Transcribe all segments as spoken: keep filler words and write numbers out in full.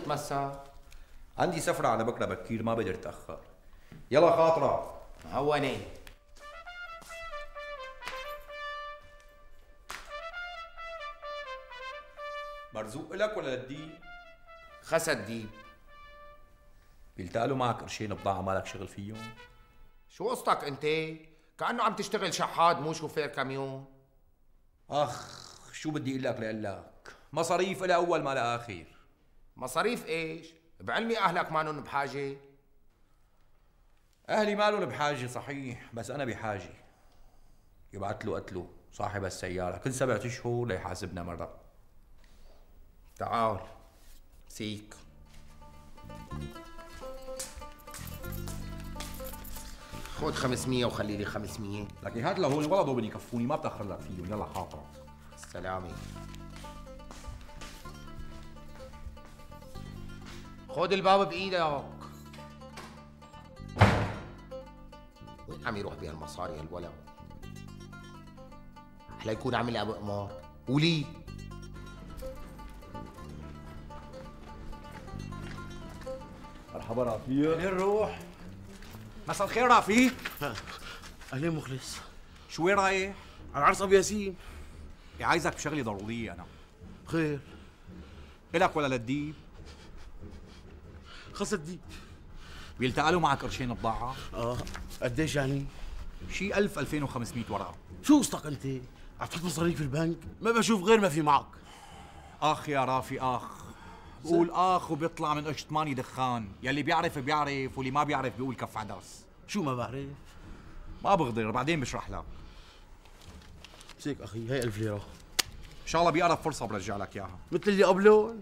تتمسك؟ عندي سفرة على بكرة بكير ما بقدر اتأخر. يلا خاطرة. هوني. مرزوق لك ولا للديب؟ خسى الديب. بيلتقلوا معك قرشين بضاعة مالك شغل فيهم؟ شو قصتك انت؟ كأنه عم تشتغل شحاد مو شوفير كاميون. اخ شو بدي اقول لك لأقول لك؟ مصاريف إلى أول ما لآخر. مصاريف ايش؟ بعلمي أهلك مانن بحاجة. أهلي مالهم بحاجة صحيح، بس أنا بحاجة. يبعت له قتله صاحب السيارة كل سبعة أشهر ليحاسبنا مرة. تعال سيك. خذ خمسمية وخلي لي خمسمية. لكن هات لهون ولا ضو بدي يكفوني ما بتأخر لك فيهم. يلا خاطرة. السلامة. خذ الباب بإيدك. وين عم يروح بهالمصاري هالولد؟ أحلى يكون عامل أبو قمار. ولي مرحبا رافي. أهلين روح. مساء الخير رافي. اهلين مخلص. شو وين رايح؟ على عرس ابو ياسين. عايزك بشغلة ضرورية أنا. خير. إلك ولا للديب؟ خلص الديب. بيلتقلوا معك قرشين بضاعة؟ اه قديش يعني؟ شي ألف ألفين وخمسمية ورقة. شو قصتك انت؟ عم تحط مصاريك في البنك؟ ما بشوف غير ما في معك. اخ يا رافي اخ. بقول اخ وبيطلع من قشط ماني دخان، يلي بيعرف بيعرف واللي ما بيعرف بيقول كف عدس. شو ما بعرف؟ ما بغدر بعدين بشرح لك. مسيك اخي هي ألف ليرة. ان شاء الله بأقرب فرصة برجع لك اياها. مثل اللي قبله؟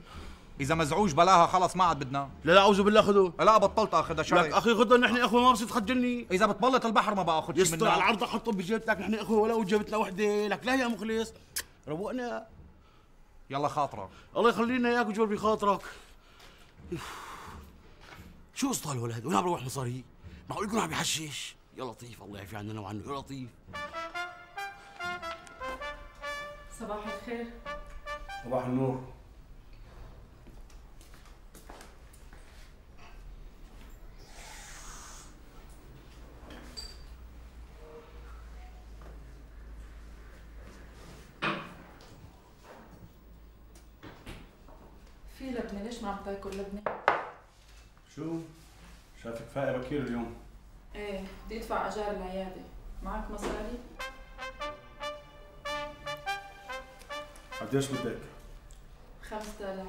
إذا مزعوج بلاها خلص ما عاد بدنا. لا لا أعوذ بالله خذه. لا بطلت اخذها شرعي. لك اخي خذها نحن اخوه ما بصير تخجلني. إذا بتبلط البحر ما باخذ شيء منك. يسطر على العرض حطه بجيبتك نحن اخوه ولو جابتنا وحده، لك لا يا مخلص. روقنا. يلا خاطرك. الله يخلينا اياك وجبر بخاطرك. شو قصته هالولد؟ وين عم بروح مصاري؟ معقول يكون عم يحشش؟ يا لطيف الله يعفي عننا وعنه يا لطيف. صباح الخير. صباح النور. في لبنة، ليش ما عم تاكل لبنة؟ شو؟ شايفك فايقة بكير اليوم. ايه بدي ادفع اجار العيادة، معك مصاري؟ قديش بدك؟ خمسة آلاف.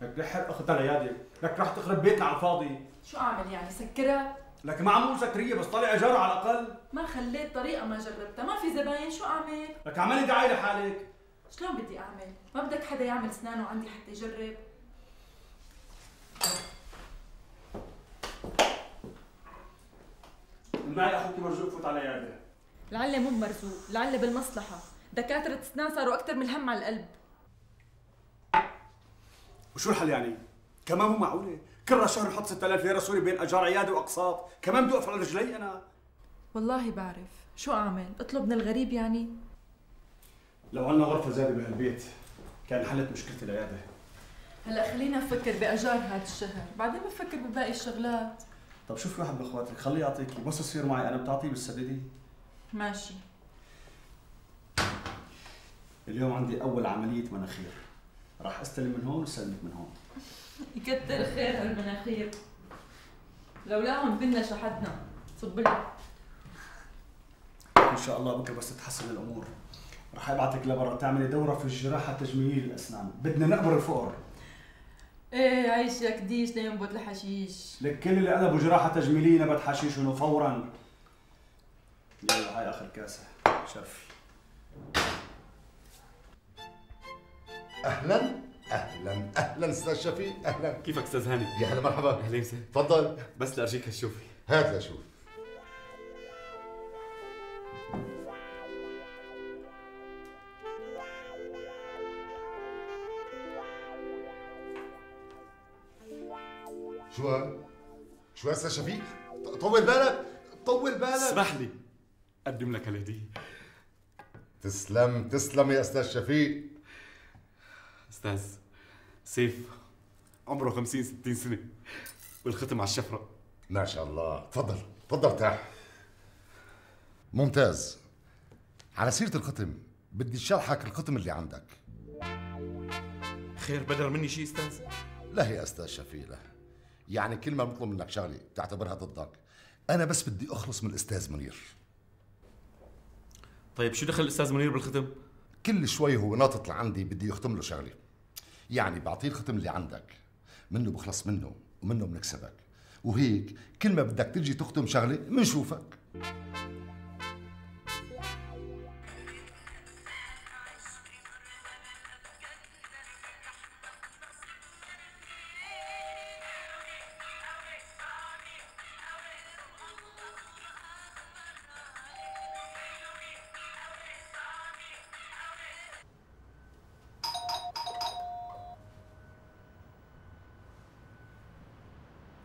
لك لحق اخذها العيادة، لك رح تخرب بيتنا على الفاضي. شو اعمل يعني سكرها؟ لك ما عمول سكرية بس طلع اجارة على الاقل. ما خليت طريقة ما جربتها، ما في زباين، شو اعمل؟ لك اعملي دعاية لحالك. شلون بدي اعمل؟ ما بدك حدا يعمل اسنانه عندي حتى يجرب؟ معي اخوك مرزوق فوت على العيادة. لعله مو مرزوق، لعله بالمصلحة، دكاترة اسنان صاروا أكثر من الهم على القلب. وشو الحل يعني؟ كمان مو معقولة، كل شهر نحط ستة آلاف ليرة سوري بين اجار عيادة واقساط، كمان بدي اوقف على رجلي انا. والله بعرف، شو اعمل؟ اطلب من الغريب يعني؟ لو عنا غرفة زيادة بهالبيت كان حلت مشكلة العيادة. هلا خلينا نفكر باجار هذا الشهر، بعدين بفكر بباقي الشغلات. طب شوفي واحد من اخواتك خليه يعطيكي، بس يصير معي انا بتعطيه بالسددي. ماشي. اليوم عندي اول عملية مناخير، راح استلم من هون واستلمك من هون. يكتر خير هالمناخير، لولاهم كنا شحدنا. صب لك. ان شاء الله بكره بس تتحسن الامور راح ابعتك لبرا تعملي دوره في الجراحه تجميل الاسنان، بدنا نقبر الفقر. ايه عيشك ديش لينبت الحشيش. لك كل اللي قلبوا جراحه تجميليه نبت حشيشهم فورا. يلا هاي اخر كاسه شرفي. اهلا اهلا اهلا استاذ شفيق. اهلا. كيفك استاذ هاني؟ يا هلا مرحبا. اهلا وسهلا. تفضل. بس لارجيك هالشوفي. هات لشوف. شو هاد؟ شو هسه شفيق؟ طول بالك طول بالك. اسمح لي اقدم لك هالهديه. تسلم تسلم يا استاذ شفيق. استاذ سيف عمره خمسين ستين سنة والختم على الشفرة. ما شاء الله. تفضل تفضل ارتاح. ممتاز. على سيرة الختم بدي شرحك الختم اللي عندك. خير بدر مني شيء استاذ؟ لا يا استاذ شفيق لا. يعني كل ما بطلب منك شغله بتعتبرها ضدك. انا بس بدي اخلص من الاستاذ منير. طيب شو دخل الاستاذ منير بالختم؟ كل شوي هو ناطط لعندي بدي يختم له شغله. يعني بعطيه الختم اللي عندك، منه بخلص منه ومنه بنكسبك، وهيك كل ما بدك تجي تختم شغله منشوفك.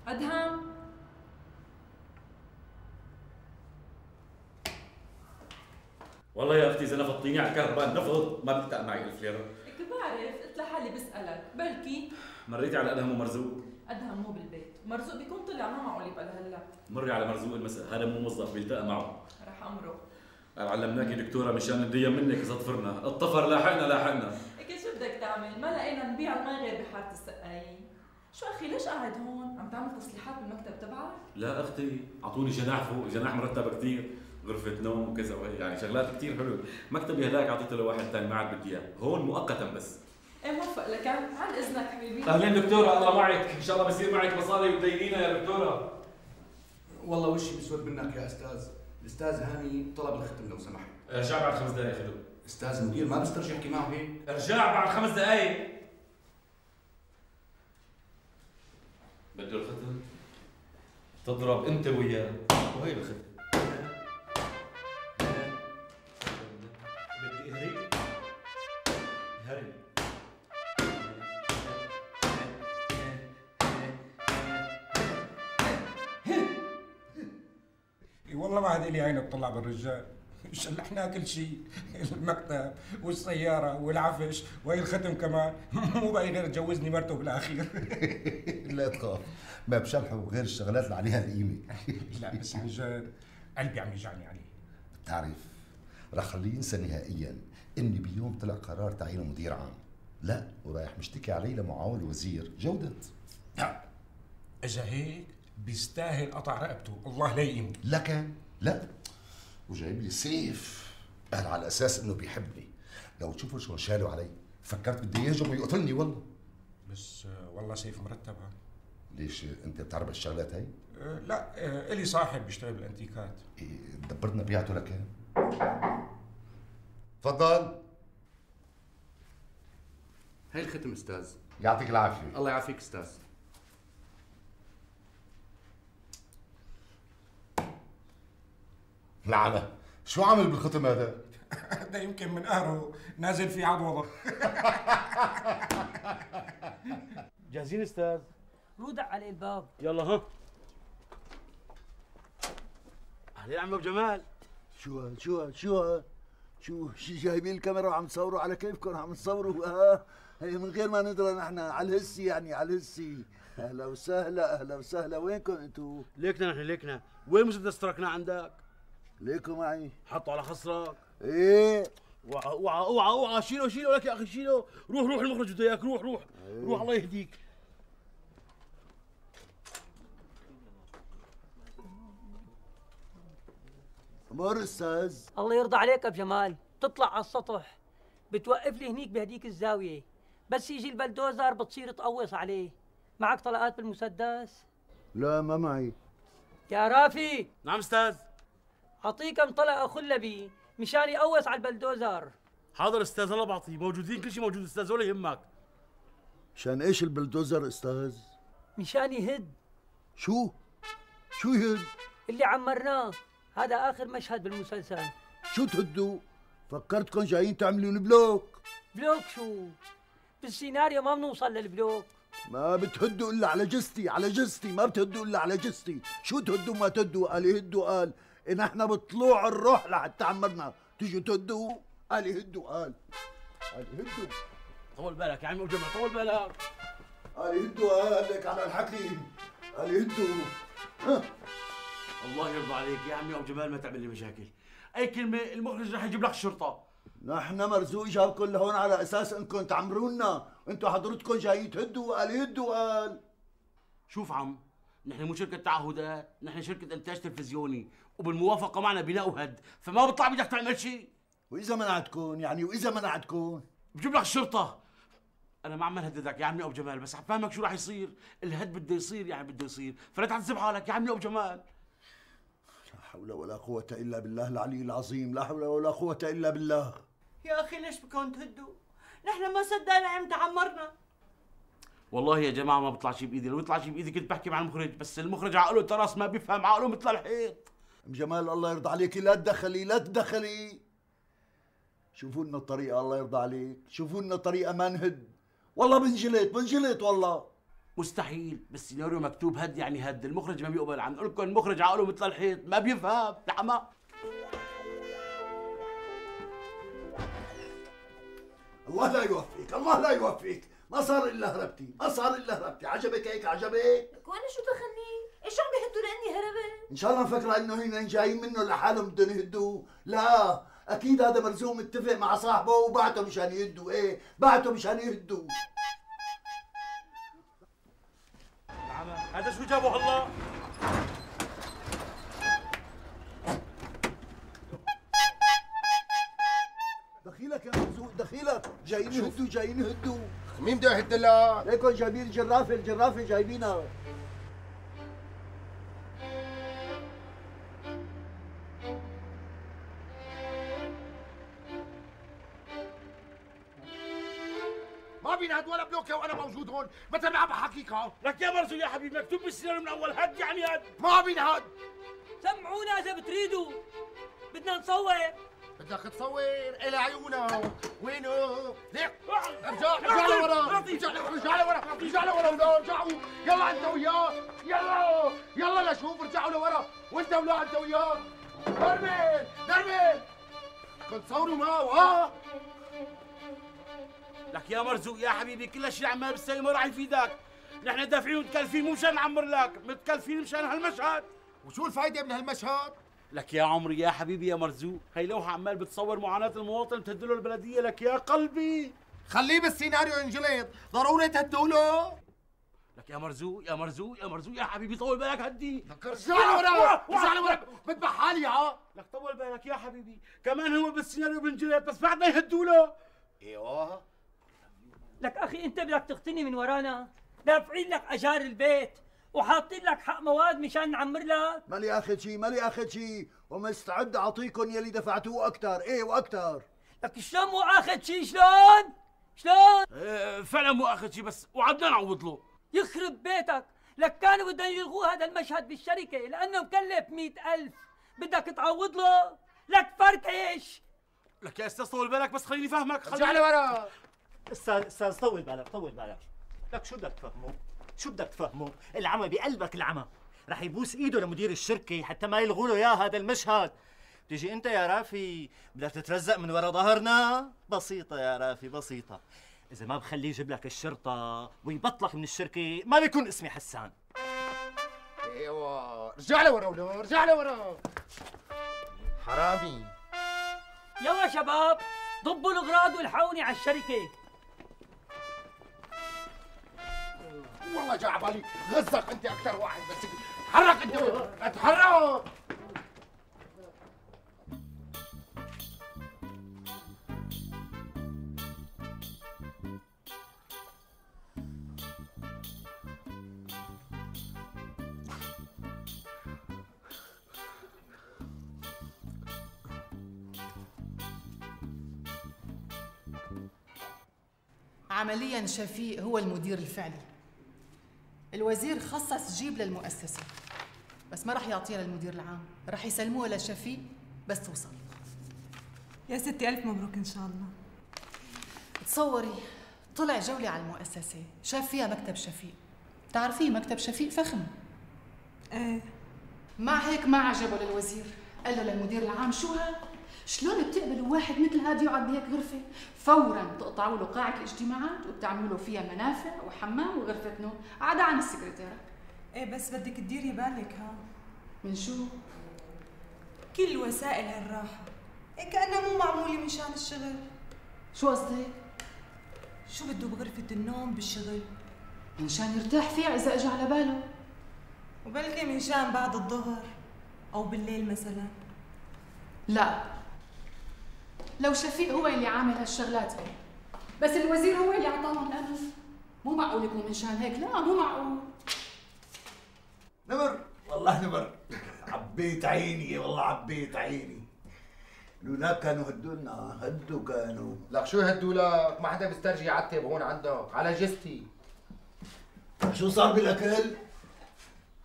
أدهم والله يا اختي اذا نفضتيني على الكهرباء نفض ما بيلتقى معي ألف ليره. هيك بعرف، قلت لحالي بسألك بلكي. مريتي على ادهم ومرزوق؟ أدهم مو بالبيت، مرزوق بيكون طلع ما معه اللي بقى لهلا. مري على مرزوق المساء، هذا مو موظف بيلتقى معه. رح أمره. علمناكي دكتوره مشان ندين منك اذا طفرنا، الطفر لاحقنا لاحقنا. هيك شو بدك تعمل؟ ما لقينا نبيع المي غير بحارة السقايين. شو أخي ليش قاعد هون؟ عم تعمل تصليحات بالمكتب تبعك؟ لا اختي، اعطوني جناح فوق، جناح مرتب كثير، غرفة نوم وكذا وهي يعني شغلات كثير حلوة. مكتبي هذاك اعطيته لواحد ثاني ما عاد بدي اياه، هون مؤقتا بس. ايه موفق لك، عن اذنك حبيبي. اهلين دكتورة، الله معك، ان شاء الله بصير معك مصاري وتدينينا يا دكتورة. والله وشي بسود منك يا استاذ، الاستاذ هاني طلب الختم لو سمحت. ارجع بعد خمس دقائق خذوا. استاذ المدير ما بسترجع يحكي معه هيك. ارجع بعد خمس دقائق. بده الختم؟ تضرب انت وياه، وهي الختم. بدي اهري هري. والله ما هذه لي عين تطلع بالرجال. شلحنا كل شيء، المكتب والسيارة والعفش وهي الختم كمان، مو باقي غير تجوزني مرته بالاخير. لا تخاف، ما بشلحوا غير الشغلات اللي عليها القيمة. لا بس عن جد قلبي عم يوجعني عليه. بتعرف رح خليه ينسى نهائيا اني بيوم طلع قرار تعيينه مدير عام. لا ورايح مشتكي عليه لمعاون وزير جودة. لا اذا هيك بيستاهل قطع رقبته، الله لا يقيمه. لكن لا، وجايب لي سيف، قال على اساس انه بيحبني. لو تشوفوا شو شالوا علي فكرت بدي يهجم ويقتلني والله. بس والله سيف مرتب. ليش انت بتعرف الشغلات هي؟ أه لا أه الي صاحب بيشتغل بالانتيكات. إيه دبرنا بيعته لكان. تفضل. هي الختم استاذ. يعطيك العافية. الله يعافيك استاذ. لعنة، شو عامل بالختم هذا؟ هذا يمكن من قهره نازل في عضوضة. جاهزين استاذ؟ رودع على الباب. يلا ها. اهلين عم ابو جمال. شو هاد شو هاد شو هاد شو شي جايبين الكاميرا وعم تصوروا على كيفكم عم تصوروا اه هي من غير ما ندرى نحن على الهسي يعني على الهسي. اهلا وسهلا اهلا وسهلا. وينكم انتو؟ ليكنا نحن ليكنا. وين مسدس تركنا عندك؟ ليكوا معي. حطوا على خصرك. ايه اوعى اوعى اوعى اوعى شيله شيله لك يا اخي شيله. روح روح المخرج بده اياك. روح روح ايه. روح الله يهديك. امور استاذ. الله يرضى عليك ابو جمال، تطلع على السطح بتوقف لي هنيك بهديك الزاويه، بس يجي البلدوزر بتصير تقوص عليه. معك طلقات بالمسدس؟ لا ما معي. يا رافي. نعم استاذ. اعطيه كم طلقه خلبي مشان يقوص على البلدوزر. حاضر استاذ الله بعطيه، موجودين كل شيء موجود استاذ ولا يهمك. مشان ايش البلدوزر استاذ؟ مشان يهد. شو؟ شو يهد؟ اللي عمرناه، هذا اخر مشهد بالمسلسل. شو تهدوا؟ فكرتكم جايين تعملون بلوك. بلوك شو؟ بالسيناريو ما بنوصل للبلوك. ما بتهدوا الا على جستي على جستي، ما بتهدوا الا على جستي. شو تهدوا ما تهدوا؟ قال يهدوا قال ان احنا بطلوع الروح لحتى عمرنا تيجوا تهدوا. قال يهدوا قال قال يهدوا. طول بالك يا عم ابو جمال طول بالك. قال يهدوا اهلك على الحكي، قال يهدوا. ها الله يرضى عليك يا عمي ابو جمال، ما تعمل لي مشاكل. اي كلمه المخرج رح يجيب لك الشرطه. نحن مرزوق جابكم لهون على اساس انكم تعمرونا، انتم حضرتكم جايين تهدوا، قال يهدوا قال. شوف عم، نحن مو شركه تعهدات، نحن شركه انتاج تلفزيوني، وبالموافقه معنا بناء وهد، فما بيطلع بدك تعمل شيء. واذا منعتكم يعني، واذا منعتكم بجيب لك الشرطه. انا ما عم نهددك يا عمي ابو جمال، بس عم فهمك شو راح يصير، الهد بده يصير يعني بده يصير، فلا تعذب حالك يا عمي ابو جمال. لا حول ولا قوة الا بالله العلي العظيم، لا حول ولا قوة الا بالله. يا اخي ليش بدكم تهدوا؟ نحن ما صدقنا عم تعمرنا. والله يا جماعه ما بيطلع شيء بايدي، لو يطلع شيء بايدي كنت بحكي مع المخرج، بس المخرج عقله تراس ما بيفهم، عقله مثل الحيط. ام جمال الله يرضى عليكي لا تدخلي لا تدخلي. شوفوا لنا الطريقة الله يرضى عليك، شوفوا لنا طريقة ما نهد. والله بنجلط بنجلط والله. مستحيل، بالسيناريو مكتوب هد يعني هد، المخرج ما بيقبل. عم نقول لكم المخرج عقله مثل الحيط ما بيفهم لحما. الله لا يوفقك، الله لا يوفقك، ما صار الا هربتي، ما صار الا هربتي، عجبك هيك عجبك؟ وانا شو دخلني؟ ايش عم بيهدوا لاني هربت؟ ان شاء الله مفكرة انه هن جايين منه لحالهم بدهم يهدوا، لا، اكيد هذا مرزوق متفق مع صاحبه وبعته مشان يهدوا، ايه، بعته مشان يهدوا. هذا شو جابه هلا؟ دخيلك يا مرزوق دخيلك، جايين يهدوا جايين يهدوا. مين بده يهد لك؟ ليكن جايبين الجرافه الجرافه جايبينها. ما بينهد ولا بلوكه وانا موجود هون، مثل ما عم بحكيك ها. لك يا مرزوق يا حبيبي مكتوب بالسيناريو من اول هد يعني هد. ما بينهد. سمعونا اذا بتريدوا، بدنا نصور. بدك تصور الى عيونك، وينه؟ ليك ارجع ارجع لورا، ارجع ارجع لورا، ارجع لورا ولا ارجعوا، يلا انت وياه، يلا يلا لشوف ارجعوا لورا، وانت ولا انت وياه. دربل دربل كنت تصوروا معه ها؟ لك يا مرزوق يا حبيبي كل هالشيء عمال بتسوي ما راح يفيدك، نحن دافعين ومتكلفين مو مشان نعمر لك، متكلفين مشان هالمشهد. وشو الفايدة من هالمشهد؟ لك يا عمري يا حبيبي يا مرزوق، هي لوحة عمال بتصور معاناة المواطن بتهدله البلدية. لك يا قلبي خليه بالسيناريو ينجلط، ضروري تهدوله. لك يا مرزوق يا مرزوق يا مرزوق يا حبيبي طول بالك هدي. لك ارجع لورا ارجع لورا بذبح حالي ها. لك طول بالك يا حبيبي، كمان هو بالسيناريو بنجلط بس بعد ما يهدوله. ايوه لك اخي انت بدك تغتني من ورانا، دافعين لك اجار البيت وحاطين لك حق مواد مشان نعمر لك. مالي اخذ شيء مالي اخذ شيء، ومستعد اعطيكم يلي دفعتوه اكثر، ايه واكثر. لك شلون مو اخذ شيء؟ شلون؟ شلون؟ اه فعلا مو اخذ شيء، بس وعدنا نعوض له. يخرب بيتك، لك كانوا بدهم يلغوا هذا المشهد بالشركه لانه مكلف مئة ألف، بدك تعوض له؟ لك فركش. لك يا استاذ طول بالك بس خليني فهمك. ارجع لورا. استاذ استاذ طول بالك طول بالك، لك شو بدك تفهمه؟ شو بدك تفهمه؟ العمى بقلبك العمى، رح يبوس ايده لمدير الشركه حتى ما يلغوا له اياه هذا المشهد. بتيجي انت يا رافي بدك تترزق من ورا ظهرنا؟ بسيطه يا رافي بسيطه، اذا ما بخليه يجيب لك الشرطه ويبطلك من الشركه ما بيكون اسمي حسان. ايوه ارجع لورا ولا ارجع لورا حرامي. يلا شباب ضبوا الاغراض والحقوني على الشركه. والله جا عبالي غزك انت اكثر واحد، بس تحرك انت اتحرك. عمليا شفيق هو المدير الفعلي، الوزير خصص جيب للمؤسسة بس ما رح يعطيها للمدير العام، رح يسلموها لشفيق بس توصل. يا ستي ألف مبروك إن شاء الله. تصوري طلع جولة على المؤسسة شاف فيها مكتب شفيق، تعرفيه مكتب شفيق فخم. ايه مع هيك ما عجبه للوزير، قال له للمدير العام شو ها؟ شلون بتقبلوا واحد مثل هاد يقعد بهيك غرفة؟ فورا بتقطعوا له قاعة الاجتماعات وبتعملوا له فيها منافع وحمام وغرفة نوم، عدا عن السكرتيرة. ايه بس بدك تديري بالك ها. من شو؟ كل وسائل هالراحة إيه كأنها مو معمولة مشان الشغل. شو قصدك؟ شو بده بغرفة النوم بالشغل؟ منشان يرتاح فيها إذا إجا على باله. وبلكي منشان بعد الظهر أو بالليل مثلا. لا، لو شفيق هو اللي عامل هالشغلات هي، بس الوزير هو اللي أعطاهم الأمر. مو معقول يكون منشان هيك، لا مو معقول. نمر والله نمر، عبيت عيني والله عبيت عيني. لولا كانوا هدولنا هدوا كانوا. لك شو هدوا لك؟ ما حدا بيسترجي يعتب هون عندك على جستي. شو صار بالاكل؟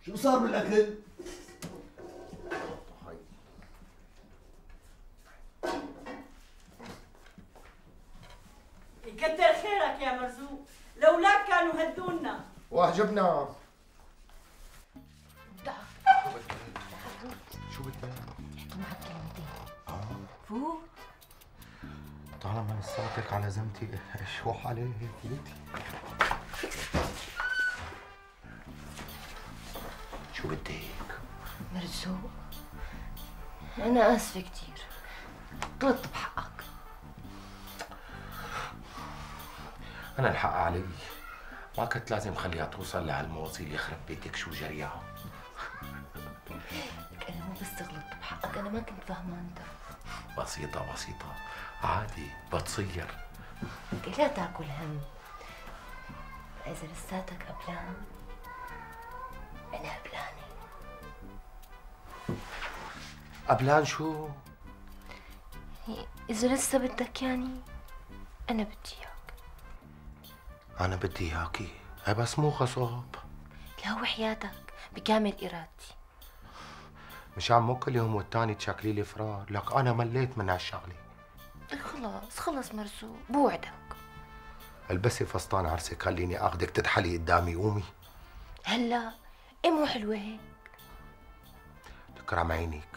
شو صار بالاكل؟ يكتر خيرك يا مرزوق، لولاك كانوا هدونا. واعجبنا. شو بدك؟ احكي معك كلمتين. اه فوق. طالما لساتك على ذمتي شو عليه فوتي. شو بدك؟ مرزوق أنا آسفة كتير، غلطت بحقك. أنا الحق علي، ما كنت لازم خليها توصل لهالمواصيل يخرب بيتك شو جريها. لك أنا مو بس غلطت بحقك، أنا ما كنت فاهمة أنت. بسيطة بسيطة، عادي بتصير. لك لا تاكل هم، إذا لساتك قبلان أنا قبلانة. قبلان شو؟ إذا لسه بدك يعني أنا بدي إياك. أنا بدي إياكي، هي بس مو غصب. لا وحياتك بكامل إرادتي. مشان مو كل يوم والتاني تشكلي لي فرار، لك أنا مليت من هالشغلة. خلاص خلص مرزوق، بوعدك. البسي فستان عرسك، خليني اخذك تتحلي قدامي، قومي. هلا ايه مو حلوة هيك؟ تكرم عينيك،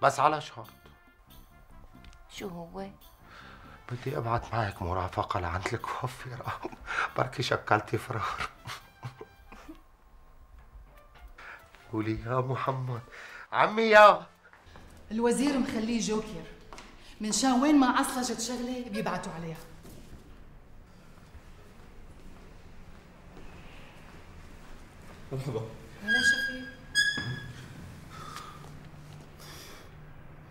بس على شرط. شو هو؟ بدي ابعت معك مرافقة لعند الكوافيرة، بركي شكلتي فرار. قولي يا محمد. عمي يا الوزير مخليه جوكر، من شان وين ما عصلجت شغله بيبعتوا عليها. مرحبا. هلا شفيق.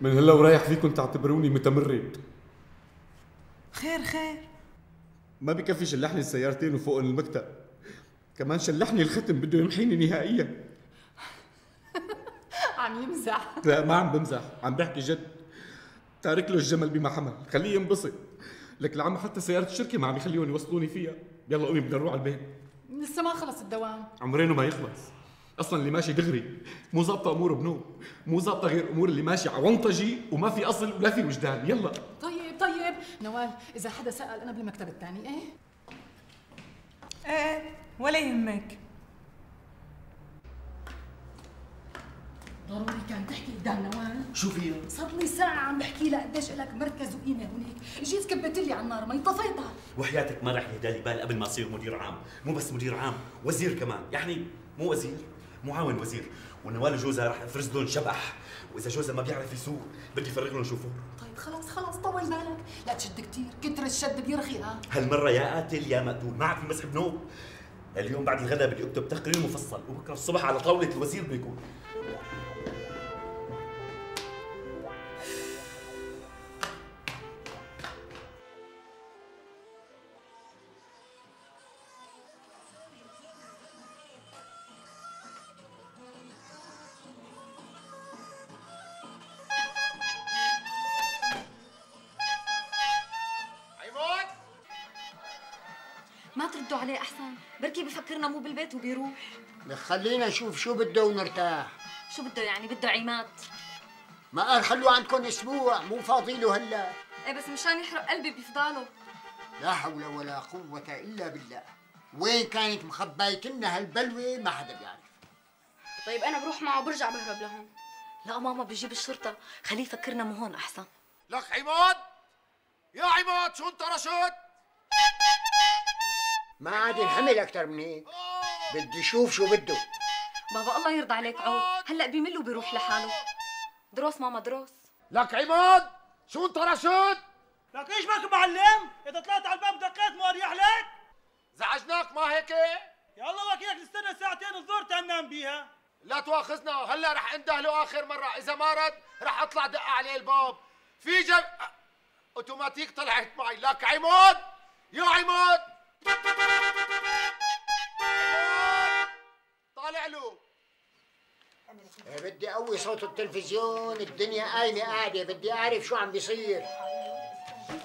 من هلا ورايح فيكم تعتبروني متمرد. خير خير. ما بكفي شلحني السيارتين وفوق المكتب، كمان شلحني الختم بده يمحيني نهائيا. عم يمزح. لا ما عم بمزح، عم بحكي جد. تارك له الجمل بما حمل، خليه ينبسط. لك العم حتى سيارة الشركة ما عم يخليهم يوصلوني فيها. يلا قومي بدنا نروح على البيت. لسه ما خلص الدوام. عمرينه ما يخلص. اصلا اللي ماشي دغري مو ظابطه اموره بنوب، مو ظابطه غير امور اللي ماشي عونطجي وما في اصل ولا في وجدان. يلا. طيب طيب نوال، اذا حدا سأل انا بالمكتب الثاني. ايه ايه ولا يهمك. ضروري كان تحكي قدام نوال. شو فيها؟ صار لي ساعة عم بحكي لها قديش لك مركز وقيمة هونيك، جيت كبت لي على النار ما طفيتها. وحياتك ما راح يهدالي بال قبل ما اصير مدير عام، مو بس مدير عام، وزير كمان، يعني مو وزير، معاون وزير، ونوال وجوزها راح افرز لهم شبح، واذا جوزها ما بيعرف يسوق بدي افرغ لهم شوفور. طيب خلاص خلاص طول بالك، لا تشد كثير، كتر الشد بيرخي. ها هالمرة يا قاتل يا مقتول، ما عاد في مسح بنوب. اليوم بعد الغداء بدي اكتب تقرير مفصل، وبكره الصبح على طاولة الوزير بيكون. ما تردوا عليه احسن، بركي بفكرنا مو بالبيت وبيروح. خلينا نشوف شو بده ونرتاح. شو بده يعني؟ بده عماد. ما قال خلوه عندكم اسبوع، مو فاضي له هلا. ايه بس مشان يحرق قلبي بيفضاله. لا حول ولا قوة الا بالله. وين كانت مخبايتنا هالبلوة ما حدا بيعرف. طيب انا بروح معه وبرجع بهرب لهون. لا ماما بيجيب الشرطة، خليه يفكرنا مو هون احسن. لك عماد، يا عماد شو انت رشد؟ ما عاد ينحمل اكثر من هيك. بدي اشوف شو بده. بابا الله يرضى عليك عود، هلا بيمل وبيروح لحاله. دروس ماما دروس. لك عماد شو انت رشد؟ لك ايش بك معلم؟ اذا طلعت على الباب دقيت مو اريح لك؟ زعجناك ما هيك؟ يلا وكيلك نستنى ساعتين الظهر تنام بيها. لا تواخذنا، هلا رح اندهله اخر مره، اذا ما رد رح اطلع دق عليه الباب. في جب اوتوماتيك طلعت معي. لك عماد، يا عماد طالع له. بدي اقوي صوت التلفزيون، الدنيا قايمه قاعده، بدي اعرف شو عم بيصير.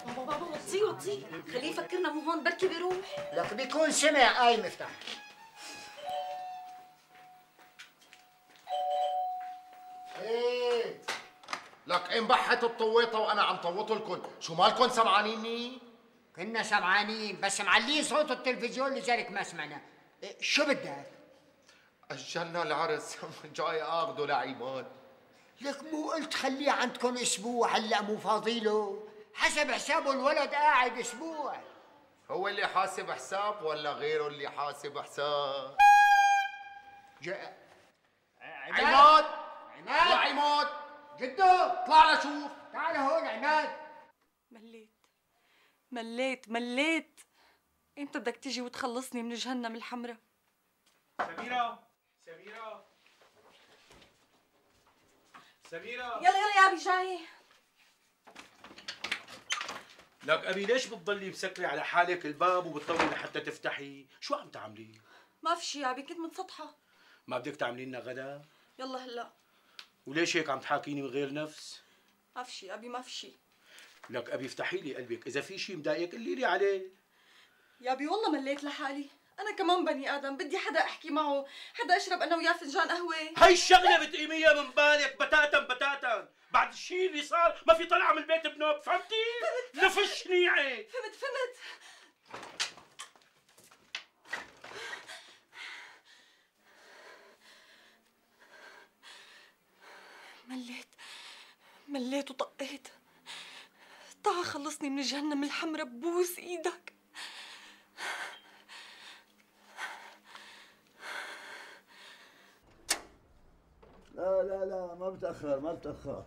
بابا بابا وطيه وطيه، خليه يفكرنا مو هون بركي بيروح. لك بيكون سمع. قايم افتح. ايه لك انبحت الطويطه وانا عم طوط لكم، شو مالكم سمعانيني؟ كنا سمعانين بس معلين صوت التلفزيون لذلك ما سمعنا. إيه شو بدك؟ اجلنا العرس جاي اخذه لعماد. لك مو قلت خليه عندكم اسبوع، هلا مو فاضيله؟ حسب حسابه الولد قاعد اسبوع. هو اللي حاسب حساب ولا غيره اللي حاسب حساب؟ جاء عماد، عماد يا عماد جدو اطلع لشوف. تعال هون عماد. مليت مليت مليت، امتى بدك تيجي وتخلصني من جهنم الحمراء؟ سميرة سميرة سميرة يلا يلا يا ابي جاي. لك ابي ليش بتضلي مسكرة على حالك الباب وبتطولي لحتى تفتحي؟ شو عم تعملي؟ ما في شي يا ابي، كنت متسطحة. ما بدك تعملي لنا غدا؟ يلا هلا. وليش هيك عم تحاكيني من غير نفس؟ ما في شي يا ابي ما في شي. لك ابي افتحي لي قلبك، اذا في شي مضايقك قولي لي عليه. يا ابي والله مليت لحالي، انا كمان بني ادم، بدي حدا احكي معه، حدا اشرب انا وياه فنجان قهوه. هي الشغله بتقيميها من بالك بتاتا بتاتا، بعد الشيء اللي صار ما في طلعه من البيت بنوب، فهمتي؟ نفش شنيعه. فهمت فهمت. مليت مليت وطقيت. تعا خلصني من جهنم الحمراء، ببوس ايدك. لا لا لا ما بتأخر ما بتأخر.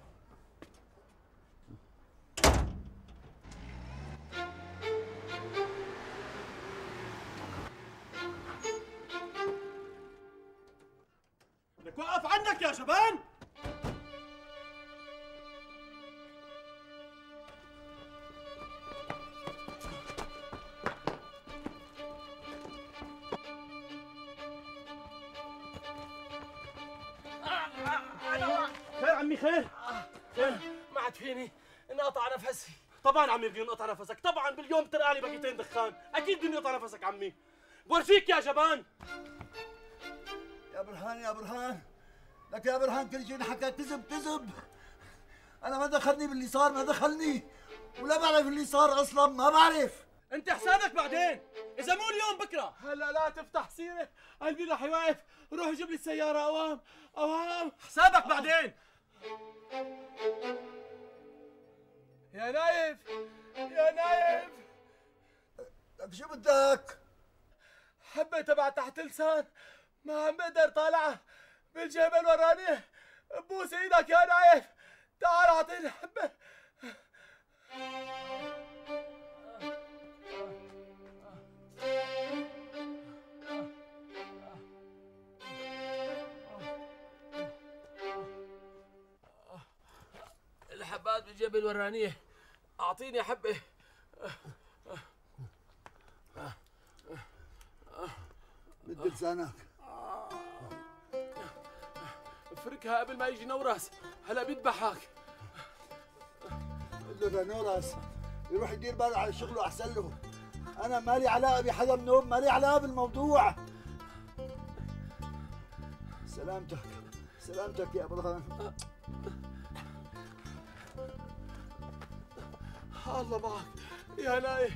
لك وقف عنك يا شبان. خير عمي خير؟ خير؟ ما عاد فيني انقطع نفسي. طبعا عمي بدي انقطع نفسك، طبعا باليوم ترقالي باكيتين دخان، اكيد بدي انقطع نفسك عمي. بورجيك يا جبان. يا برهان يا برهان، لك يا برهان كل شيء حكى كذب كذب. انا ما دخلني باللي صار، ما دخلني ولا بعرف اللي صار اصلا، ما بعرف. انت حسابك بعدين، اذا مو اليوم بكره. هلا لا تفتح سيره، قلبي رح يوقف، روح جيب لي السياره اوام اوام. حسابك بعدين. يا نايف يا نايف، لك شو بدك؟ حبة تبع تحت لسان ما عم بقدر طالعها بالجبل وراني، بوس ايدك يا نايف، تعال اعطيني حبة. الحبات بالجبل ورانيه، اعطيني حبة. مد لسانك. افركها قبل ما يجي نوراس، هلا بيذبحك. قل له نوراس يروح يدير باله على شغله احسن له. انا مالي علاقه بحدا منهم، مالي علاقه بالموضوع. سلامتك سلامتك يا برهان. الله معك يا نايف.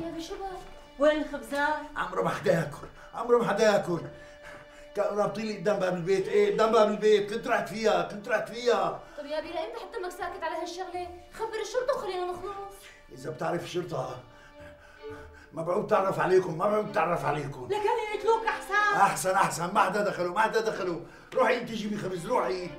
يا بشباب وين الخبزات؟ عمره ما حدا ياكل، عمره ما حدا ياكل. كانوا رابطين لي قدام باب البيت، ايه قدام باب البيت، كنت رحت فيها، كنت رحت فيها. طب يا بيلا امتى حتى انك ساكت على هالشغله؟ خبر الشرطه وخلينا نخلص. إذا بتعرف الشرطة مبعوث تعرف عليكم، مبعوث تعرف عليكم. لكان يقتلوك احسن. احسن احسن، ما حدا دخلوا، ما حدا دخلوا. روحي انت جيبي خبز، روحي.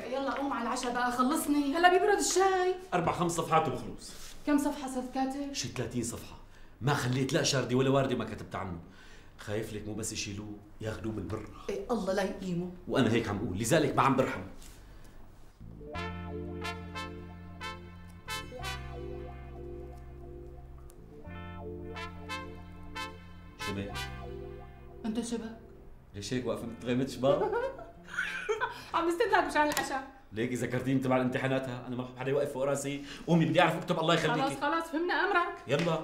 يلا قوم على العشاء بقى، خلصني هلا بيبرد الشاي. اربع خمس صفحات وبخلص. كم صفحه صرت كاتب؟ شي ثلاثين صفحه، ما خليت لا شاردي ولا وارده ما كتبت عنه. خايف لك مو بس يشيلوه ياخذوه بالبر. ايه الله لا يقيمه. وانا هيك عم اقول، لذلك ما عم برحم. شبك انت شبك؟ ليش هيك واقفه متغمد شباب؟ عم استناك مشان العشاء. ليكي ذكرتيني تبع الامتحاناتها، انا ما بحب حدا يوقف فوق راسي. قومي بدي اعرف اكتب الله يخليكي. خلاص خلاص فهمنا امرك. يلا.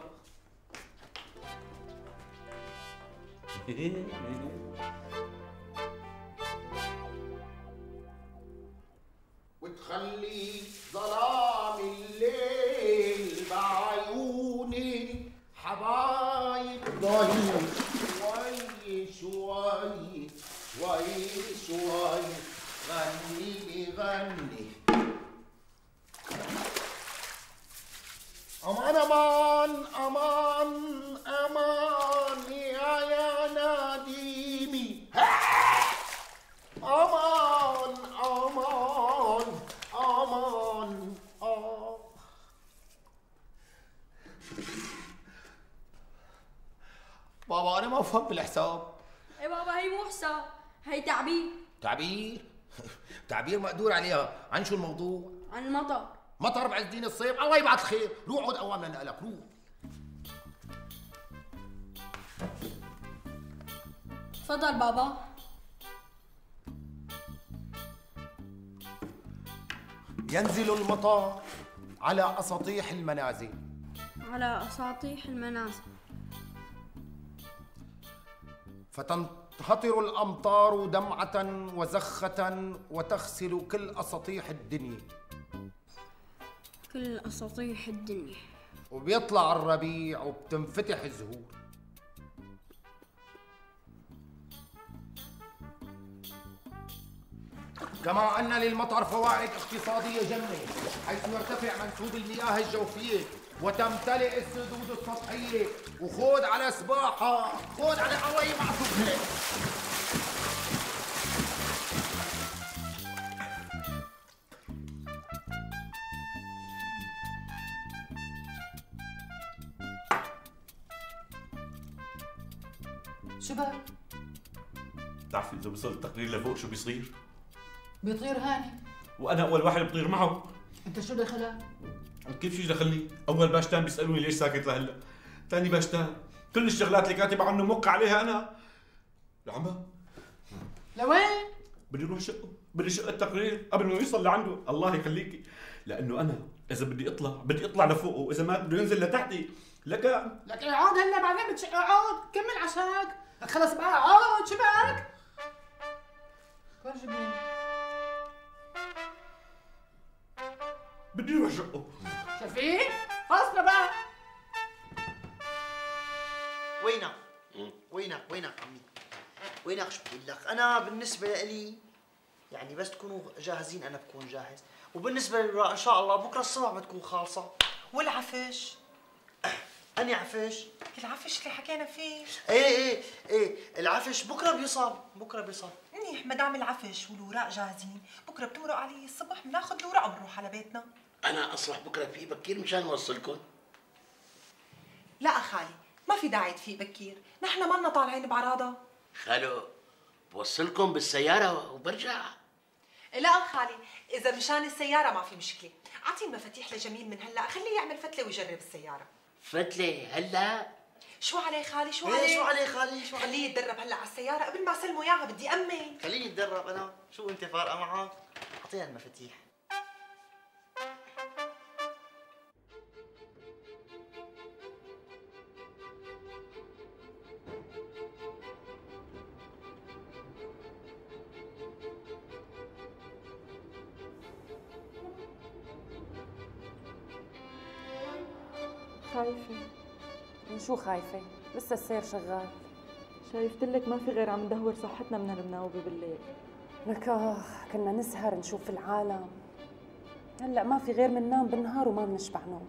وتخلي ظلام الليل بعيوني حبايب ضايع شوي شوي شوي شوي غني لي غني. امان امان امان امان يا يا ناديمي. امان امان امان آه. بابا انا ما بفهم بالحساب. ايه بابا هي مو حساب، هي تعبير. تعبير؟ تعبير مقدور عليها. عن شو الموضوع؟ عن المطر. مطر بعز دين الصيف، الله يبعث خير. روح عود قوام لنقلك، روح. تفضل بابا. ينزل المطر على أساطيح المنازل. على أساطيح المنازل. فتنهطر الأمطار دمعة وزخة وتغسل كل أساطيح الدنيا. كل أساطيح الدنيا. وبيطلع الربيع وبتنفتح الزهور. كما أن للمطر فوائد اقتصادية جمة، حيث يرتفع منسوب المياه الجوفية وتمتلئ السدود السطحية. وخود على سباحة، خود على الله يبعثك هيك. شو بك؟ بتعرفي اذا وصل التقرير لفوق شو بيصير؟ بيطير هاني. وانا اول واحد بطير معه. انت شو دخلك؟ كيف شو دخلني؟ اول باشتان بيسالوني ليش ساكت لهلا؟ ثاني باشتان كل الشغلات اللي كاتب عنه موقع عليها انا. لعمة لوين؟ بدي اروح شقه، بدي شق التقرير قبل ما يوصل لعنده، الله يخليكي، لانه انا اذا بدي اطلع بدي اطلع لفوقه، واذا ما بده ينزل لتحتي. لك لك اقعد هلا بعدين بتشق. اقعد كمل عشاك. لك خلص بقى اقعد. شو بك؟ فرجني. بدي اروح شقه. شفيق خلصنا بقى. وينك؟ وينك وينك عمي؟ وينك؟ شو بقول لك؟ أنا بالنسبة لي يعني بس تكونوا جاهزين أنا بكون جاهز، وبالنسبة للوراق إن شاء الله بكرة الصبح بتكون خالصة. والعفش؟ أني عفش؟ العفش اللي حكينا فيه. إيه إيه إيه العفش بكرة بيوصل، بكرة بيوصل. منيح ما دام العفش والوراق جاهزين، بكرة بتمرق علي الصبح بناخذ الوراق وبنروح على بيتنا. أنا أصلح بكرة في بكير مشان أوصلكم. لا خالي ما في داعي تفيق بكير، نحن مالنا طالعين بعراضة. خالو بوصلكم بالسيارة وبرجع. لا خالي إذا مشان السيارة ما في مشكلة، أعطيه المفاتيح لجميل من هلا، خليه يعمل فتلة ويجرب السيارة. فتلة هلا؟ شو عليه خالي شو إيه، عليه؟ شو عليه خالي شو عليه؟ خليه يتدرب هلا على السيارة قبل ما اسلمه اياها بدي امن. خليني اتدرب انا، شو انت فارقة معك؟ اعطيها المفاتيح. خايفة. من شو خايفة؟ لسه السير شغال. شايفتلك ما في غير عم ندهور صحتنا من هالمناوبة بالليل. لك آخ كنا نسهر نشوف العالم، هلأ ما في غير مننام بالنهار وما بنشبع نوم.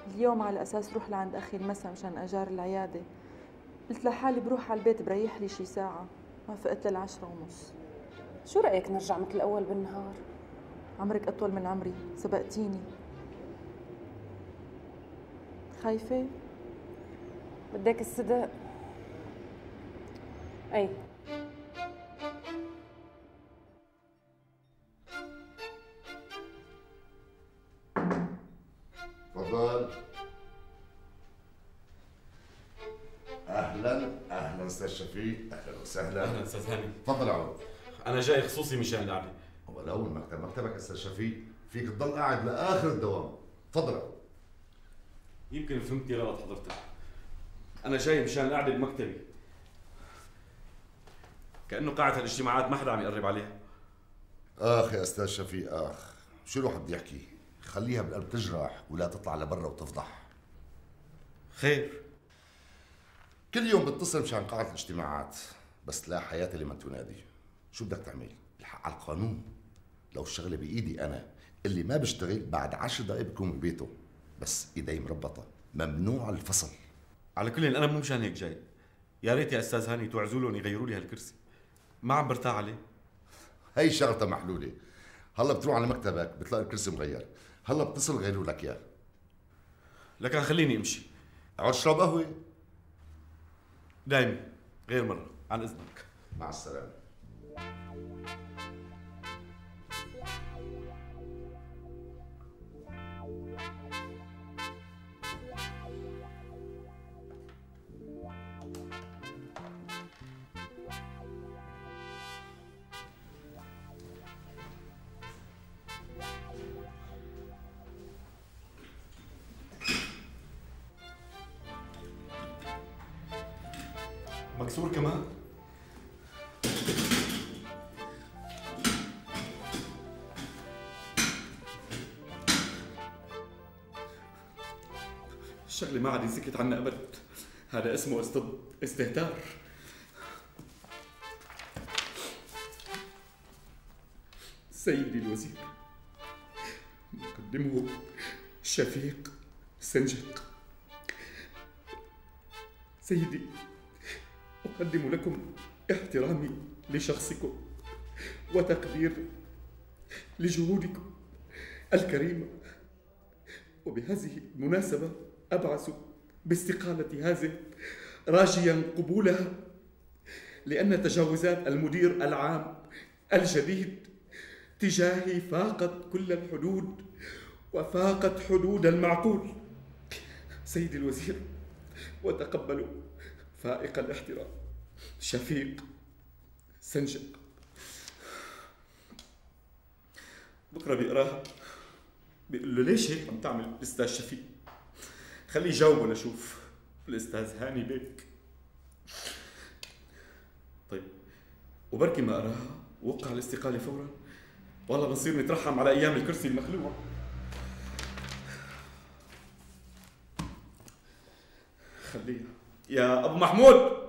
اليوم على أساس روح لعند أخي المسا مشان أجار العيادة، قلت لحالي بروح على البيت بريح لي شي ساعة، ما فقت للعشرة ونص. شو رأيك نرجع مثل الأول بالنهار؟ عمرك أطول من عمري، سبقتيني. خايفة؟ بدك الصدق؟ أي تفضل. اهلا اهلا استاذ شفيق، اهلا وسهلا. اهلا استاذ هاني. تفضل عود. انا جاي خصوصي مشان القعده. ولو المكتب مكتبك استاذ شفيق، فيك تضل قاعد لاخر الدوام. تفضل عود. يمكن فهمتني غلط حضرتك. انا جاي مشان القعده بمكتبي. كانه قاعه الاجتماعات ما حدا عم يقرب عليها. اخ يا استاذ شفيق اخ، شو الواحد بده يحكي؟ خليها بالقلب تجرح ولا تطلع لبرا وتفضح. خير. كل يوم بتصل مشان قاعة الاجتماعات، بس لا حياة لمن تنادي. شو بدك تعمل؟ الحق على القانون. لو الشغلة بإيدي أنا، اللي ما بيشتغل بعد عشر دقايق بكون ببيته، بس إيدي مربطة، ممنوع الفصل. على كل أنا مو مشان هيك جاي. يا ريت يا أستاذ هاني توعزوا لهم يغيروا لي هالكرسي. ما عم برتاح عليه. هي شغلتها محلولة. هلا بتروح على مكتبك بتلاقي الكرسي مغير، هلا بتصل غيروا لك اياه. لكن خليني امشي. اقعد اشرب قهوة. دايما غير مرة، عن إذنك. مع السلامة. مكسور كمان؟ الشغلة ما عاد ينسكت عنا أبد. هذا اسمه استد... استهتار. سيدي الوزير، مقدمه شفيق سنجق. سيدي، أقدم لكم احترامي لشخصكم وتقدير لجهودكم الكريمة، وبهذه المناسبة أبعث باستقالة هذه راجيا قبولها، لأن تجاوزات المدير العام الجديد تجاهي فاقت كل الحدود وفاقت حدود المعقول. سيدي الوزير، وتقبلوا فائق الاحترام شفيق سنجق. بكره بيقراها بيقول له ليش هيك عم تعمل الاستاذ شفيق؟ خليه يجاوبه لشوف الاستاذ هاني بيك. طيب وبركي ما قراها ووقع الاستقاله فورا، والله بنصير نترحم على ايام الكرسي المخلوع. خليها يا ابو محمود.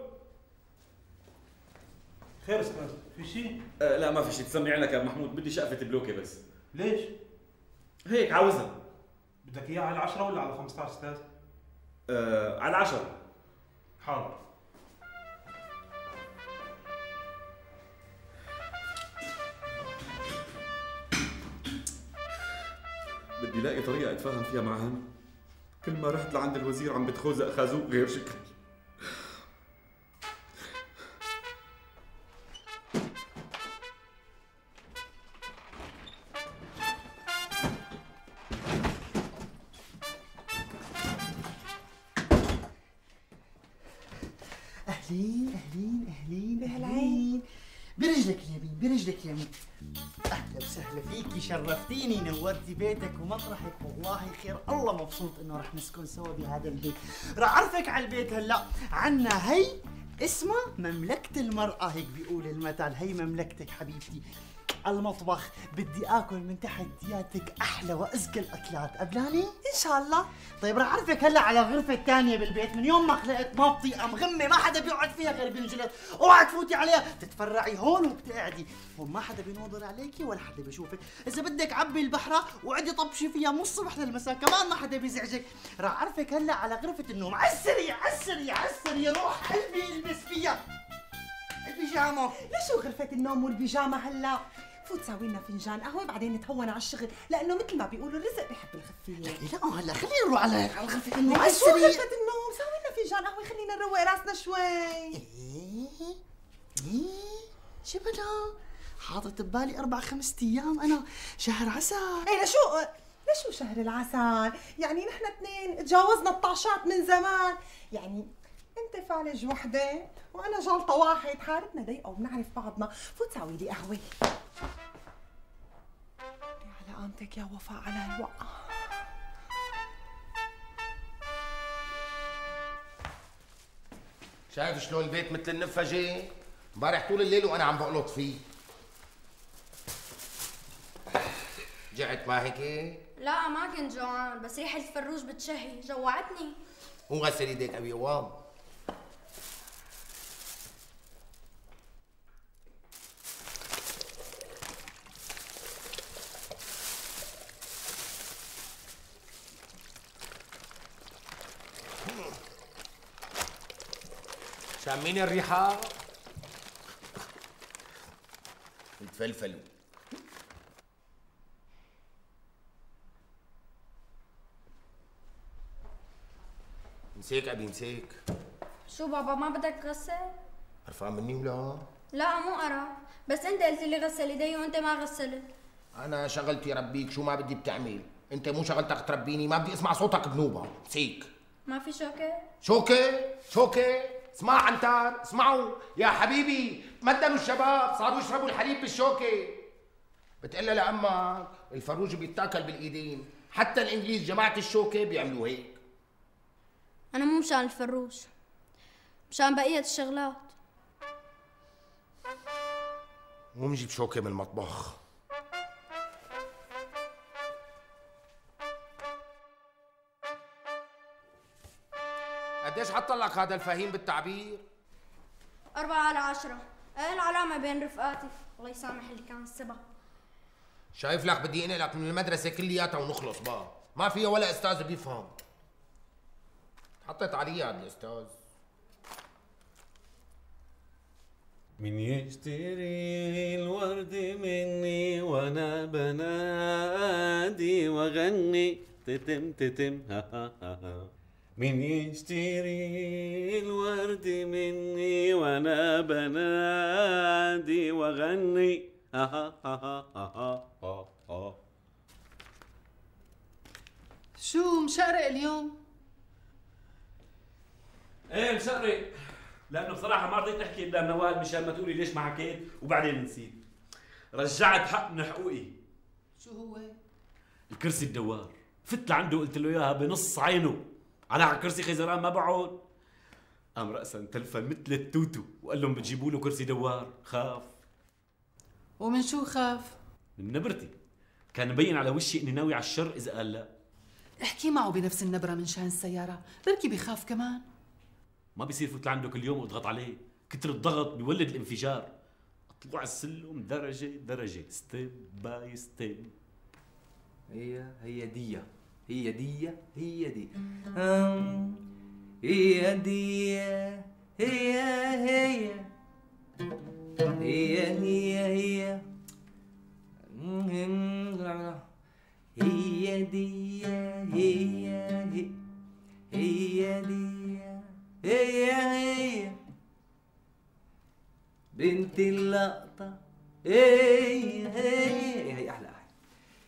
خير استاذ، في شيء؟ آه لا ما في شيء، تسمي عينك يا ابو محمود، بدي شقفة بلوكة بس. ليش؟ هيك عاوزها. بدك اياها على العشرة ولا على خمسة عشر استاذ؟ آه على العشرة. حاضر. بدي لاقي طريقة اتفاهم فيها مع هاني. كل ما رحت لعند الوزير عم بتخوزق خازوق غير شكل. اهلين اهلين اهلين اهلين برجلك اليمين برجلك اليمين. اهلا وسهلا فيكي، شرفتيني، نورتي بيتك ومطرحك، والله خير، الله مبسوط انه رح نسكن سوا بهذا البيت. رح اعرفك على البيت هلا، عنا هي اسمها مملكة المرأة، هيك بيقول المثل، هي مملكتك حبيبتي. المطبخ بدي اكل من تحت ياتك احلى وازكى الاكلات، قبلاني؟ ان شاء الله. طيب رح اعرفك هلا على غرفة الثانية بالبيت، من يوم ما خلقت ما بطيئة مغمة، ما حدا بيقعد فيها غير بينجلط، اوعى تفوتي عليها، تتفرعي هون وبتقعدي، هون ما حدا بينظر عليكي ولا حدا بيشوفك، إذا بدك عبي البحرة وعدي طبشي فيها من الصبح للمساء، كمان ما حدا بيزعجك. رح اعرفك هلا على غرفة النوم، عالسري عالسري عالسري، روح قلبي البس فيها البيجامة. ليش غرفة النوم والبيجامة هلا؟ فوت ساوي لنا فنجان قهوة بعدين نتهون على الشغل، لأنه مثل ما بيقولوا الرزق بيحب الخفية. لا هلا خلينا نروح على على غرفة النوم. على شو غرفة النوم؟ ساوي لنا فنجان قهوة، خلينا نروق راسنا شوي. ايه ايه شبنا حاطط ببالي أربع خمسة أيام أنا شهر عسل. ايه لشو لشو شهر العسل؟ يعني نحن اثنين تجاوزنا الطاشات من زمان، يعني انت فالج وحده وانا جلطه واحد، حالتنا ضيقه وبنعرف بعضنا. فوت ساوي لي قهوه. على قامتك يا وفاء على هالوقعه. شايف شلون البيت مثل النفجه؟ امبارح طول الليل وانا عم بقلط فيه. جعت ما هيك؟ لا ما كنت جوعان، بس ريحة الفروج بتشهي، جوعتني. قوم غسل ايديك ابي قوام. شامين الريحة؟ تفلفلوا. مسيك ابي مسيك. شو بابا ما بدك تغسل؟ قرفان مني ولا؟ لا مو قرف، بس انت قلت لي غسل ايدي وانت ما غسلت. انا شغلتي ربيك، شو ما بدي بتعمل، انت مو شغلتك تربيني، ما بدي اسمع صوتك بنوبه، مسيك. ما في شوكة؟ شوكة؟ شوكة؟ اسمع عنتر، اسمعوا يا حبيبي، تمدنوا الشباب، صاروا يشربوا الحليب بالشوكة. بتقلها لأمك الفروج بيتاكل بالإيدين، حتى الإنجليز جماعة الشوكة بيعملوا هيك. أنا مو مشان الفروج، مشان بقية الشغلات. مو نجيب شوكة من المطبخ. قديش حط لك هذا الفهيم بالتعبير؟ أربعة على عشرة، العلامة بين رفقاتي، الله يسامح اللي كان السبب. شايف لك بدي انقلك من المدرسة كلياتها ونخلص بقى، ما فيها ولا أستاذ بيفهم. حطيت علي هذا الأستاذ. من يشتري الورد مني وانا بنادي واغني تتم تتم ها ها ها. من يشتري الورد مني وانا بنادي واغني ها ها ها ها ها ها. شو مشقرق اليوم؟ ايه مشقرق، لانه بصراحه ما رضيت احكي قدام نوال مشان ما تقولي ليش ما حكيت وبعدين نسيت. رجعت حق من حقوقي. شو هو؟ الكرسي الدوار، فت لعنده قلت له اياها بنص عينه، انا على كرسي خيزران ما بقعد. قام راسا تلفن مثل التوتو وقال لهم بتجيبوا له كرسي دوار، خاف. ومن شو خاف؟ من نبرتي، كان مبين على وشي اني ناوي على الشر اذا قال لا. احكي معه بنفس النبرة من شان السيارة، بركي بيخاف كمان. ما بيصير فوت لعنده كل يوم واضغط عليه، كتر الضغط بيولد الانفجار. اطلع السلم درجة درجة، ستيب باي ستيب. هي هي دي هي دي هي دي أم هي دي هي هي هي هي هي هي دي هي هي هي دي هي هي بنت اللقطة، هي هي هي أحلى أحلى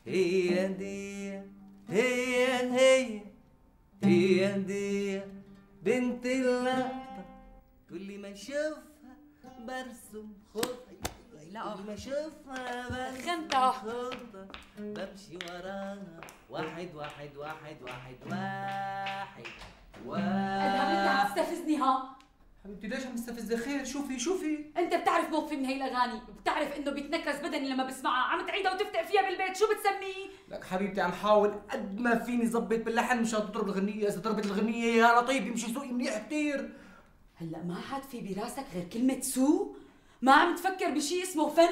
هي دي هي هي هي دي بنت اللقطة، كل ما اشوفها برسم خطي، لا كل ما اشوفها برسم خنتة. خطة، بمشي وراها واحد واحد واحد واحد واحد ادهم انت عم تستفزني ها؟ حبيبتي ليش عم تستفزي؟ خير شوفي شوفي. انت بتعرف موقفي من هي الاغاني، بتعرف انه بيتنكس بدني لما بسمعها، عم تعيدها وتفتق فيها بالبيت، شو بتسميه؟ لك حبيبتي عم حاول قد ما فيني ظبط باللحن مشان تضرب الغنية، إذا ضربت الغنية يا لطيف يمشي سوقي منيح كثير. هلا ما حد في براسك غير كلمة سوق؟ ما عم تفكر بشيء اسمه فن؟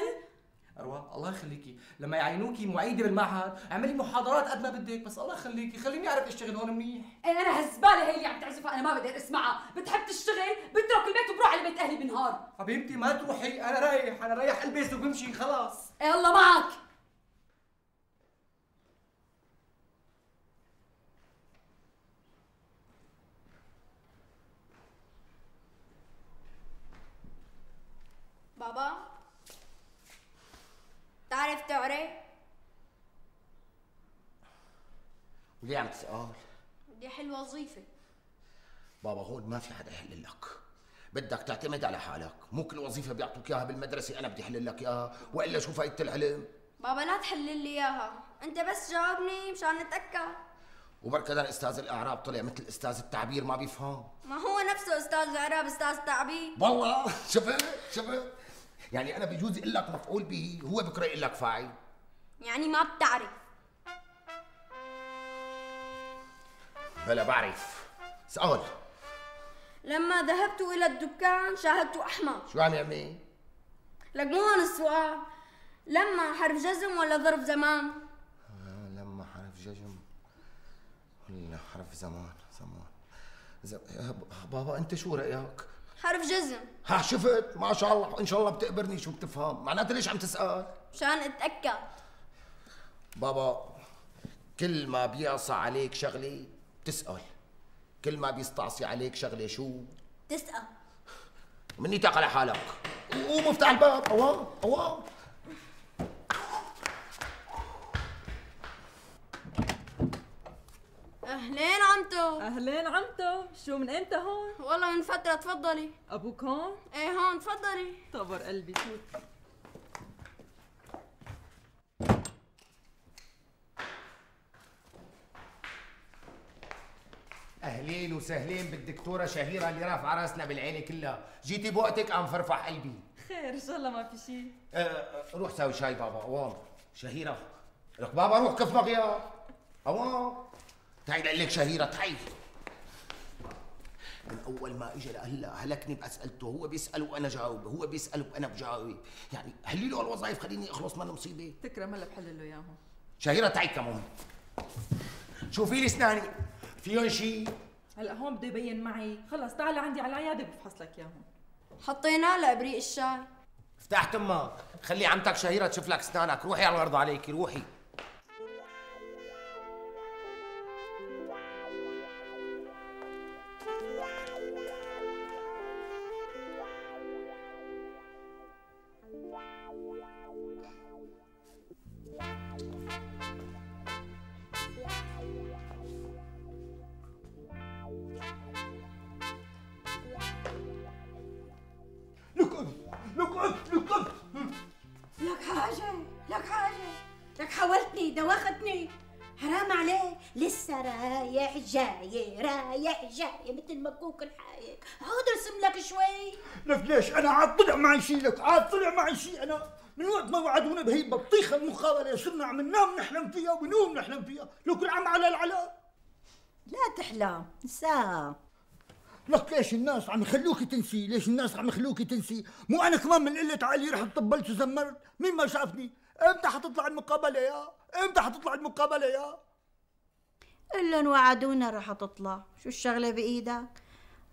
أروى الله يخليكي، لما يعينوكي معيدة بالمعهد اعملي محاضرات قد ما بدك، بس الله يخليكي خليني أعرف أشتغل هون منيح. ايه انا هالزبالة هي اللي عم تعزفها انا ما بقدر اسمعها، بتحب تشتغل بترك البيت وبروح على بيت اهلي بنهار. حبيبتي ما تروحي، أنا رايح، أنا رايح ألبس وبمشي خلاص. ايه الله معك. بابا تعرف تقري؟ وليه عم تسأل؟ بدي احل وظيفة. بابا هون ما في حدا يحل لك، بدك تعتمد على حالك، مو كل وظيفة بيعطوك اياها بالمدرسة أنا بدي أحل لك اياها، وإلا شو فايدة العلم؟ بابا لا تحلل لي اياها، انت بس جاوبني مشان نتأكد. وبركة أستاذ الإعراب طلع مثل أستاذ التعبير ما بيفهم. ما هو نفسه استاذ الاعراب استاذ تعبير. والله شفت شفت؟ يعني أنا بجوز أقول لك مفعول به، هو بكره يقول لك فاعل. يعني ما بتعرف. بلا بعرف. سؤال. لما ذهبت إلى الدكان شاهدت أحمر. شو عم يعمل؟ لك مو هون السؤال. لما حرف جزم ولا ظرف زمان؟ آه لما حرف جزم ولا حرف زمان زمان زم... بابا أنت شو رأيك؟ حرف جزم. ها شفت؟ ما شاء الله إن شاء الله بتقبرني شو بتفهم، معناته ليش عم تسأل؟ مشان أتأكد. بابا كل ما بيعصى عليك شغلة بتسأل، كل ما بيستعصي عليك شغلة شو؟ تسأل. منيتك على حالك. قوم افتح الباب. أوام أوام. أهلين عمتو. أهلين عمتو، شو من إمتى هون؟ والله من فترة تفضلي. أبوك هون؟ إيه هون تفضلي. طبر قلبي فوت. اهلين وسهلين بالدكتوره شهيره اللي رافعه راسنا بالعيله كلها، جيتي بوقتك قام فرفح قلبي. خير ان شاء الله ما في شيء. أه أه روح ساوي شاي بابا. اوام شهيره لك بابا روح كف مغياب. اوام تعي لقول لك شهيره تعي. من اول ما اجى لهلا هلكني باسئلته، هو بيسال وانا جاوب، هو بيسال وانا بجاوب، يعني حلي له الوظائف خليني اخلص من المصيبه. تكرم هلا بحل له اياهم. شهيره تعي كمان. شوفي لي اسناني فيهم شيء؟ هلا هون بده يبين معي، خلص تعال عندي على العياده بفحص لك اياهم. حطينا لابريق الشاي. فتحت امك، خلي عمتك شهيره تشوف لك اسنانك، روحي على الارض عليكي روحي. لك حاجة لك حاجة لك حاولتني دوختني، حرام عليك، لسه رايح جاي رايح جاي مثل مكوك الحايك، عود ارسم لك شوي. لك ليش انا عاد طلع معي شيء، لك عاد طلع معي شيء، انا من وقت ما وعدونا بهي البطيخه المقابله صرنا عم ننام نحلم فيها ونقوم نحلم فيها، لك العم على العلاء. لا تحلم انساها. لك ليش الناس عم يخلوكي تنسي؟ ليش الناس عم يخلوكي تنسي؟ مو انا كمان من قله عقلي رحت طبلت وزمرت، مين ما شافني؟ امتى حتطلع المقابله يا؟ امتى حتطلع المقابله يا؟ إلا وعدونا رح تطلع، شو الشغله بايدك؟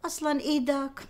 اصلا ايدك